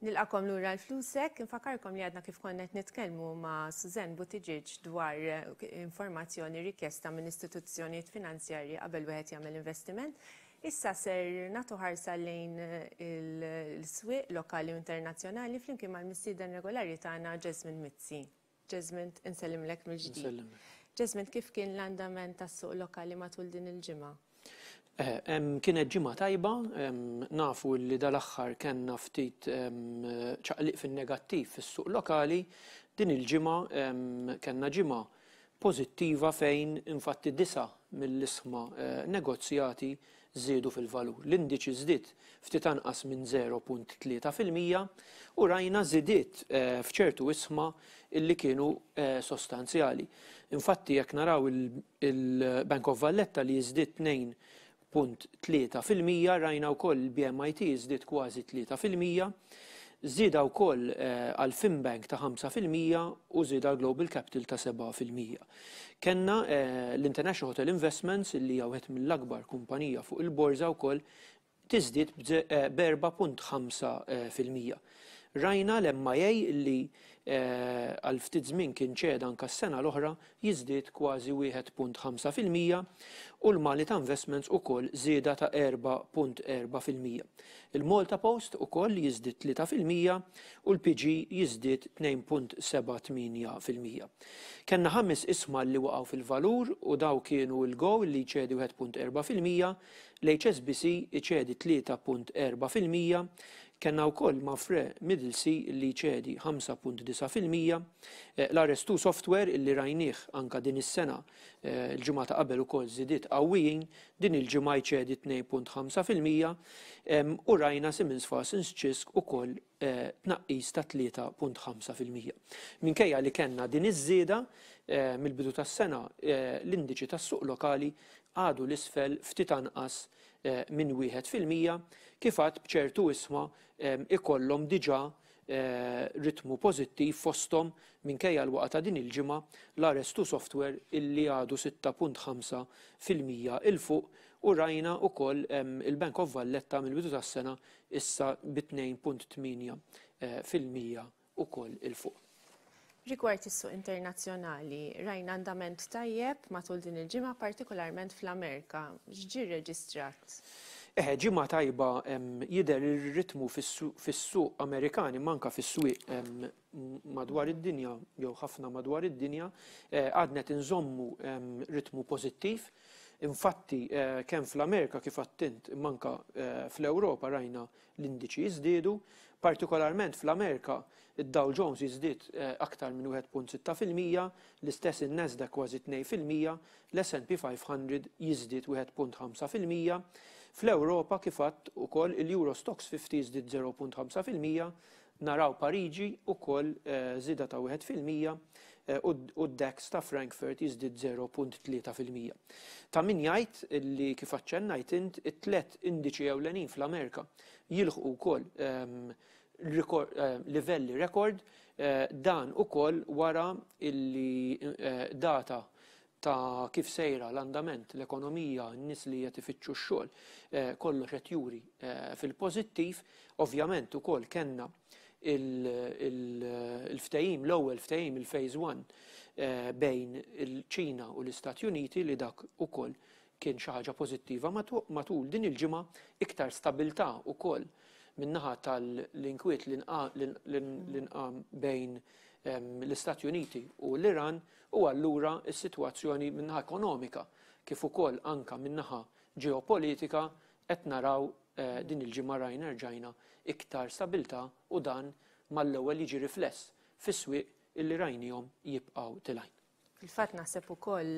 Nilqagħkom lura għal Flusek, infakarkom li għadna kif konna qed nitkellmu ma' Suzanne Buttigieg dwar informazzjoni rikjesta minn istituzzjonijiet finanzjarji qabel wieħed jagħmel investiment. Issa ser nagħtu ħarsa lejn il-swieq lokali u internazzjonali flimkien mal-mistieden regolari tagħna Jesmond Mizzi. Jesmond, insellimlek mill-ġdid. Insellimlek. Jesmond, kif kien l-andament tas-suq lokali matul din il-ġimgħa? Kienet ġimgħa tajba, nafu li dal-aħħar kellna ftit ċaqliq fin-negattiv fis-suq lokali, din il-ġimgħa kellna ġimgħa pożittiva fejn infatti disa' mill-isħma negozjati żiedu fil-valur. L-indiċi żdied ftit anqas minn 0.3% u rajna żidiet f'ċertu isħma illi kienu sostanzjali. Infatti jekk naraw il-Bank of Valletta li jiżdied 2.3%, rajna wkoll il-BMIT jiżdied kważi 3%, żieda wkoll għal Finbank ta' 5% u żieda għal Global Capital ta' 7%. Kenna l-International Hotel Investments li hija wieħed mill-akbar kumpanija fuq il-borża wkoll tiżdied b'4.5%. Rajna l-MIA li għal ftit żmien kien ċeda anka s-sena l-oħra jiżdied kważi 1.5% u l-Malita Investments ukoll żieda ta' 4.4%. Il-Malta Post ukoll jiżdied 3% u l-PG jiżdied 2.78%. Kenna ħames isma li waqgħu fil-valur u daw kienu l-Go li jċedi 1.4%, l-HSBC iċedi 3.4%, kellna wkoll Mapfre Middlesea li jċedi 5.9%, l-RS2 Software illi rajnieh anka din is-sena l-ġimgħa ta' qabel ukoll żidiet qawwijin, din il-ġimgħa jċedi 2.5% u rajna Siemens Fastening Cisk ukoll tnaqqis ta' 3.5%. Minkejja li kellna din iż-żieda mill-bidu tas-sena l-indiċi tas-suq lokali għadu l-isfel ftit anqas minn 1% kif għad b'ċertu isma ikollhom diġà ritmu pożittiv fosthom minkejja l-waqa ta' din il-ġimgħa l-RS2 Software illi għadu 6.5% 'il fuq u rajna wkoll il-Bank of Valletta mill-bidu tas-sena issa bi 2.8% ukoll 'il fuq. Rigward is-suq internazzjonali, rajna andament tajjeb matul din il-ġimgħa, partikolarment fl-Amerika. X'ġie rreġistrat? Eħe, ġimgħa tajba jidher ir-ritmu fis-suq Amerikan imma anke fis-swieq madwar id-dinja jew ħafna madwar id-dinja għadna qed inżommu ritmu pożittiv. Infatti kemm fl-Amerika kif għedt int imma anke fl-Ewropa rajna l-indiċi jiżdiedu, partikolarment fl-Amerika id-Dow Jones jiżdied aktar minn 1.6%, l-istess in-Nasdaq kważi 2%, l-S&P 500 jiżdied 1.5%. Fl-Ewropa kif għedt ukoll il-Euro Stoxx 50 jiżdied 0.5%, naraw Pariġi ukoll żieda ta' 1% u d-DAX ta' Frankfurt jiżdied 0.3%. Ta' min jgħid li kif aċċennajt int it-tlet indiċi ewlenin fl-Amerika jilħqu wkoll livelli rekord dan ukoll wara illi data ta' kif sejra l-andament, l-ekonomija, n-nies li qed ifittxu x-xogħol, kollox qed juri fil-pożittiv. Ovvjament ukoll kellna il-ftehim, l-ewwel ftehim, il-phase 1 bejn il-Ċina u l-Istati Uniti li dak ukoll kien xi ħaġa pożittiva matul din il-ġimgħa, iktar stabilità ukoll min-naħa tal-inkwiet li nqam bejn l-Istati Uniti u l-Iran u allura s-sitwazzjoni min-naħa ekonomika kif ukoll anka min-naħa ġeopolitika qed naraw din il-ġimgħa rajna rġajna iktar stabilità u dan mal-ewwel jiġi rifless fis-swieq illi rajnihom jibqgħu tilgħin. Fil-fatt naħseb ukoll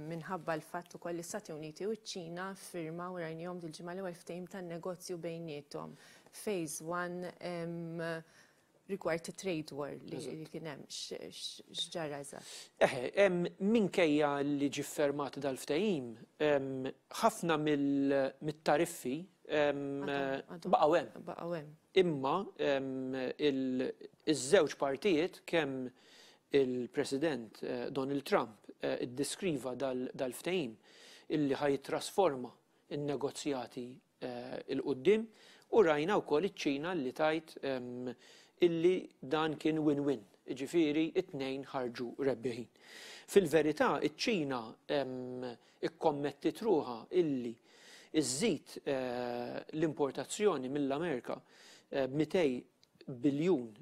minħabba l-fatt ukoll l-Istati Uniti u ċ-Ċina firmaw rajnihom dil-ġimgħa l-ewwel ftehim tan-negozju bejniethom. Phase 1 rigward trade war li kien hemm x'ġara eżatt. Eħe, minkejja li ġie ffirmat dal-ftehim, ħafna mit-tariffi baqgħu hemm. Baqgħu hemm. Imma iż-żewġ partijiet kemm il-President Donald Trump iddeskriva dal-ftehim illi ħa jittrasforma in-negozjati 'il quddiem. U rajna wkoll iċ-Ċina li tgħid illi dan kien win-win, jiġifieri t-tnejn ħarġu rebbieħin. Fil-verità iċ-Ċina ikkommettiet ruħha illi żżid l-importazzjoni mill-Amerika b'200 biljun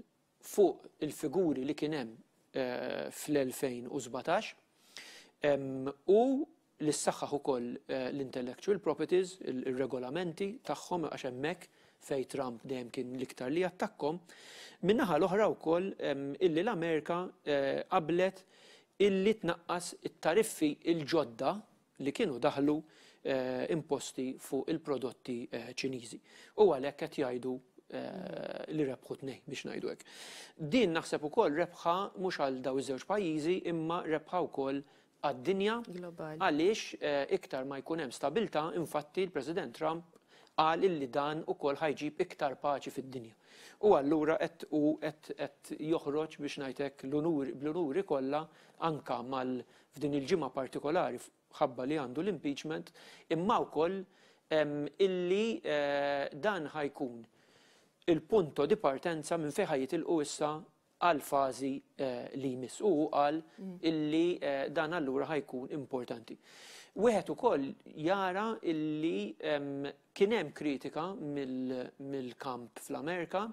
fuq il-figuri li kien hemm fl-2017 u li ssaħħaħ ukoll l-intellectual properties, ir-regolamenti tagħhom għax hemmhekk fejn Trump dejjem kien l-iktar li jattakkhom. Min-naħa l-oħra wkoll illi l-Amerika qablet illi tnaqqas it-tariffi l-ġodda li kienu daħlu imposti fuq il-prodotti Ċiniżi. U għalhekk qed jgħidu li rebħu tnejn biex ngħidu hekk. Din naħseb ukoll rebħa mhux għal daw iż-żewġ pajjiżi imma rebħa wkoll għad-dinja għaliex iktar ma jkun hemm stabilità, infatti l-President Trump qal illi dan ukoll ħa jġib iktar paċi fid-dinja. U allura qed hu qed joħroġ biex ngħid hekk l-unuri bl-unuri kollha anka mal f'din il-ġimgħa partikolari ħabba li għandu l-impeachment, imma wkoll illi dan ħa jkun il-punto di partenza minn fejn ħa jitilqu issa għall-fażi li jmiss. U hu qal illi dan allura ħa jkun importanti. Wieħed ukoll jara illi kien hemm kritika mill-kamp fl-Amerika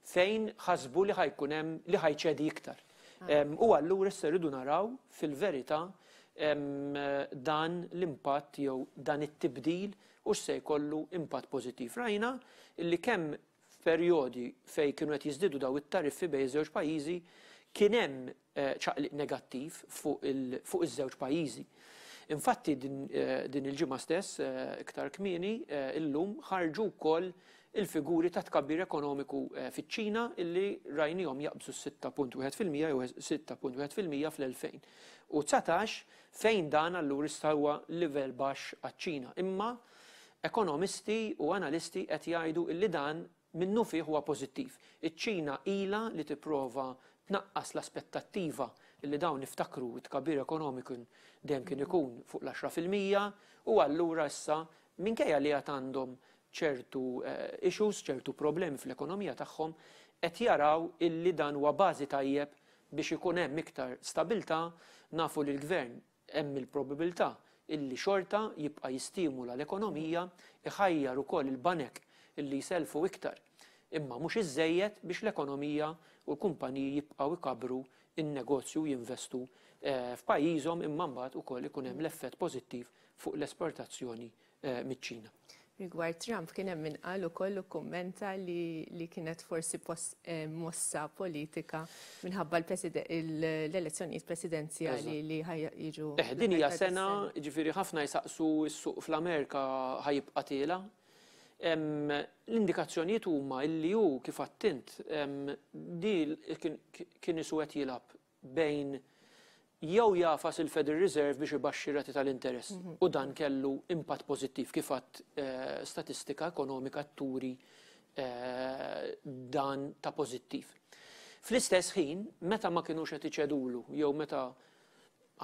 fejn ħasbu li ħa jkun hemm li ħa jċedi iktar. U allura issa rridu naraw fil-verità dan l-impatt jew dan it-tibdil hux se jkollu impatt pożittiv. Rajna illi kemm f'perjodi fejn kienu qed jiżdiedu dawn it-tariffi bejn iż-żewġ pajjiżi kien hemm ċaqliq negattiv fuq iż-żewġ pajjiżi. Infatti din il-ġimgħa stess iktar kmieni illum ħarġu wkoll il-figuri ta' tkabbir ekonomiku fiċ-Ċina illi rajnihom jaqbżu s-6.1% jew 6.1% fl-2019 fejn dan allura issa huwa livell baxx għaċ-Ċina. Imma Ekonomisti u analisti qed jgħidu illi dan minnufih huwa pożittiv. Iċ-Ċina ilha li tipprova tnaqqas l-aspettattiva illi dawn niftakru t-tkabbir ekonomiku dejjem kien ikun fuq l-10% u allura issa minkejja li għad għandhom ċertu issues, ċertu problemi fl-ekonomija tagħhom, qed jaraw illi dan huwa bażi tajjeb biex ikun hemm iktar stabilità, nafu li l-Gvern Hemm il-probabilità illi xorta jibqa' jistimula l-ekonomija, iħajjar ukoll il-banek illi jsellfu iktar, imma mhux iżżejjed biex l-ekonomija u l-kumpaniji jibqgħu jkabbru n-negozju u jinvestu f'pajjiżhom imma mbagħad ukoll ikun hemm l-effett pożittiv fuq l-esportazzjoni miċ-Ċina. Rigward Trump kien hemm min qal ukoll u kkummenta li, li kienet forsi eh, mossa politika minħabba l-elezzjonijiet presidenzjali li jiġu. Eh, din hija sena, ġifieri ħafna jsaqsu s-suq fl-Amerika ħajibqa' tiela. L-indikazzjonijiet huma illi hu kif attint di kien isu qed jilgħab bejn jew jagħfas il-Federal Reserve biex ibaxxi r-rati tal-interess u dan kellu impatt pożittiv kif għadt statistika ekonomika turi dan ta' pożittiv. Fl-istess ħin, meta ma kinux qed iċedulu jew meta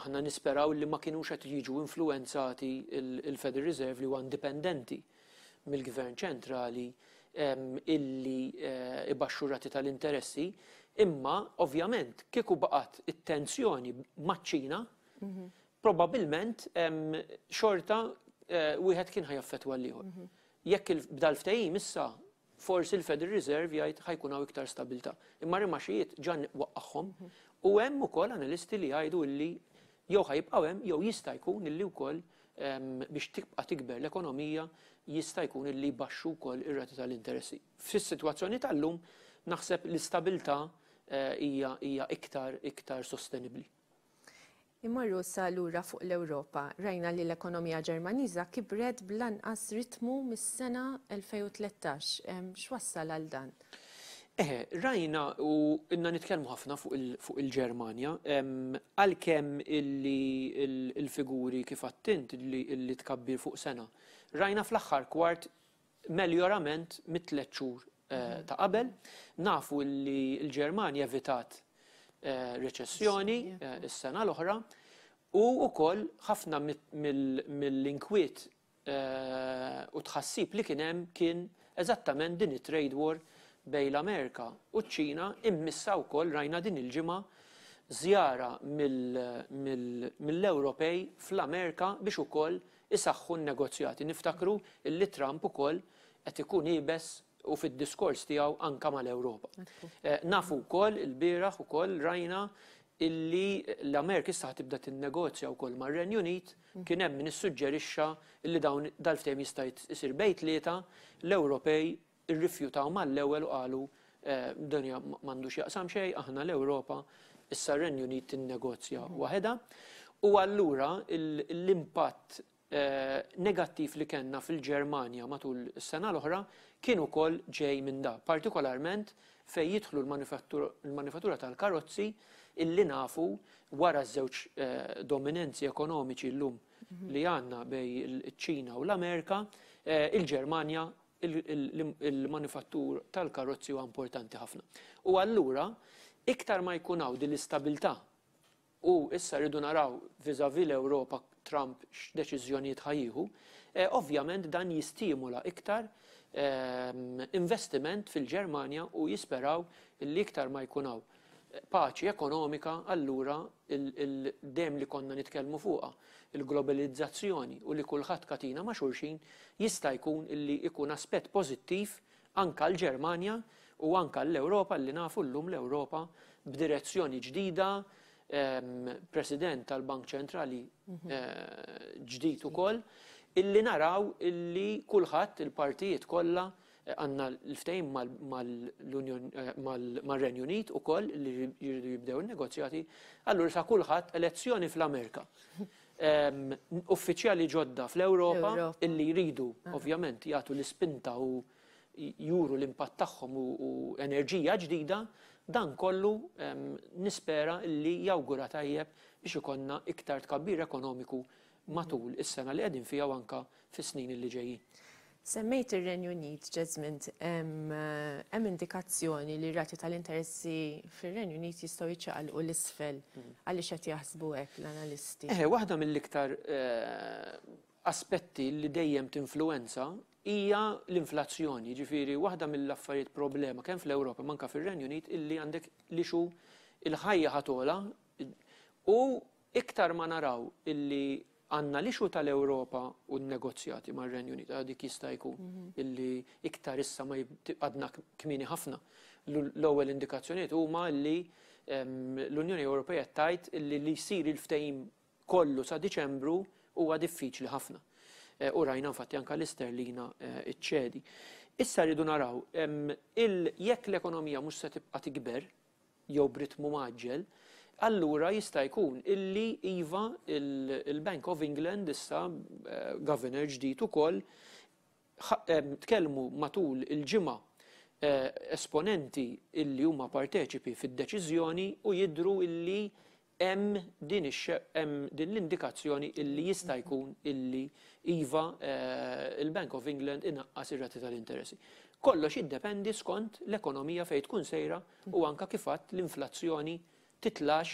aħna nisperaw li ma kinux qed jiġu influwenzati il-Federal Reserve li huwa indipendenti mill-Gvern ċentrali illi ibaxxu r-rati tal-interessi, imma ovvjament kieku baqgħet it-tensjoni maċ-Ċina, probabbilment xorta wieħed kien ħa jaffettwa l-ieħor. Jekk b'dal-ftehim issa forsi l-Federal Reserve jgħid ħa jkun hawn iktar stabilità. Imma r-rimaxijiet ġa waqqagħhom u hemm ukoll analisti li jgħidu illi jew ħa jibqgħu hemm jew jista' jkun illi wkoll biex tibqa' tikber l-ekonomija jista' jkun illi jbaxxu wkoll ir-rati tal-interessi. Fis-sitwazzjoni tal-lum naħseb l-istabilità hija hija iktar iktar sostenibbli. Immorru issa lura fuq l-Ewropa. Rajna li l-ekonomija Ġermaniża kibret bl-anqas ritmu mis-sena 2013. X'wassal għal dan? Eħe, rajna u ilna nitkellmu ħafna fuq il-Ġermanja, għalkemm illi l-figuri kif għedt int illi tkabbir fuq sena. Rajna fl-aħħar kwart meljorament mit-tliet xhur ta' qabel. Nafu li l-Ġermanja evitat reċessjoni s-sena l-oħra u wkoll ħafna mill-inkwiet u tħassib li kien hemm kien eżattament din it-trade war bejn l-Amerika u ċ-Ċina immissa wkoll rajna din il-ġimgħa żjara mill-Ewropej fl-Amerika biex ukoll isaħħu n-negozjati. Niftakru illi Trump ukoll qed ikun iebes u fid-diskors tiegħu anka mal-Ewropa. Nafu wkoll il-bieraħ ukoll rajna illi l-Amerika issa tibda tinnegozja wkoll mar-Renju Unit, kien hemm min issuġġerixxa illi dawn dal-ftehim jista' jsir bejn tlieta, l-Ewropej irrifjutaw mal-ewwel u qalu dan m'għandux jaqsam xejn, aħna l-Ewropa, issa r-Renju Unit tinnegozja waħedha. U allura l-impatt negattiv li kellna fil-Ġermanja matul is-sena l-oħra kien ukoll ġej minn da, partikolarment fejn jidħlu l-manifattura tal-karozzi illi nafu wara ż-żewġ dominanzi ekonomiċi llum li għandna bejn iċ-Ċina u l-Amerika, il-Ġermanja il-manifattur tal-karozzi huwa importanti ħafna. U allura iktar ma jkun hawn din l-istabilità u issa rridu naraw vis-à-vis l-Ewropa Trump x'deċiżjonijiet ħa jieħu, ovvjament dan jistimula iktar investiment fil-Ġermanja u jisperaw li iktar ma jkun hawn paċi ekonomika, allura il-dem li konna nitkellmu fuqha, il-globalizzazzjoni u li kulħadd katina ma' xulxin, jista' jkun illi ikun aspett pożittiv anka l-Ġermanja u anka l-Ewropa li nafu llum l-Ewropa b'direzzjoni ġdida, President tal-Bank Ċentrali ġdid ukoll, illi naraw illi kulħadd il-partijiet kollha għandna l-ftehim mal-Renju Unit ukoll li jridu jibdew in-negozjati, allura sa kulħadd elezzjoni fl-Amerika. Uffiċjali ġodda fl-Ewropa illi jridu ovvjament jagħtu l-ispinta u juru l-impatt tagħhom u enerġija ġdida, dan kollu nispera illi jawgura tajjeb biex ikollna iktar tkabbir ekonomiku matul is-sena li qegħdin fiha u anka fis-snin li ġejjin. Semmejt ir-Renju Unit, Jesmond, hemm indikazzjoni li rati tal-interessi fir-Renju Unit jistgħu jiċċaqalqu l-isfel. Għaliex qed jaħsbu hekk l-analisti? Waħda mill-iktar aspetti li dejjem tinfluwenza hija l-inflazzjoni, ġifieri waħda mill-affarijiet problema kemm fl-Ewropa manka fir-Renju Unit illi għandek li xu il-ħajja ħa togħla u iktar ma naraw illi għandna l-issue tal-Ewropa u n-negozjati mar-Renju Unit, dik jista' jkun illi iktar issa ma għadna kmieni ħafna. L-ewwel indikazzjonijiet huma li l-Unjoni Ewropea tgħid illi li jsir il-ftehim kollu sa Diċembru huwa diffiċli ħafna. U rajna infatti anka l-isterlina iċċedi. Issa rridu naraw jekk l-ekonomija mhux se tibqa' tikber jew b'ritmu mgħaġġel, allura jista' jkun illi iva il-Bank of England issa governor ġdid ukoll tkellmu matul il-ġimgħa esponenti illi huma parteċipi fid-deċiżjoni u jidru illi hemm din din l-indikazzjoni illi jista' jkun illi iva il-Bank of England inaqqas ir-rati tal-interessi. Kollox jiddependi skont l-ekonomija fejn tkun sejra u anka kif għadt l-inflazzjoni titlax,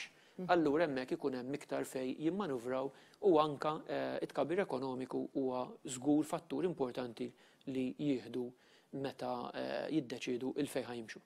allura hemmhekk ikun hemm iktar fejn jimmanuvraw u anka it-tkabbir ekonomiku huwa żgur fattur importanti li jieħdu meta jiddeċiedu il fejn ħa jimxu.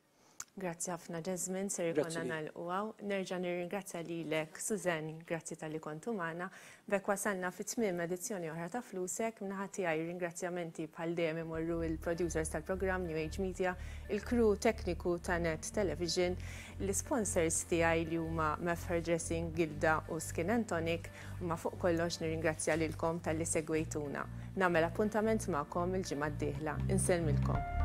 Grazzi ħafna Jesmond, ser ikollna nagħlqu hawn. Nerġa' nirringrazzja lilek Suzanne, grazzi talli kontu magħna. B'hekk wasalna fi tmiem edizzjoni oħra ta' Flusek. Min-naħa tiegħi ringrazzjamenti bħal dejjem imorru il-producers tal-programm New Age Media, il-crew tekniku ta' Net Television, l-sponsors tiegħi li huma Mef Hairdressing, Gilda u Skin and Tonic, ma fuq kollox nirringrazzja lilkom talli segwejtuna. Nagħmel appuntament magħkom il-ġimgħa d-dieħla. Insellmilkom.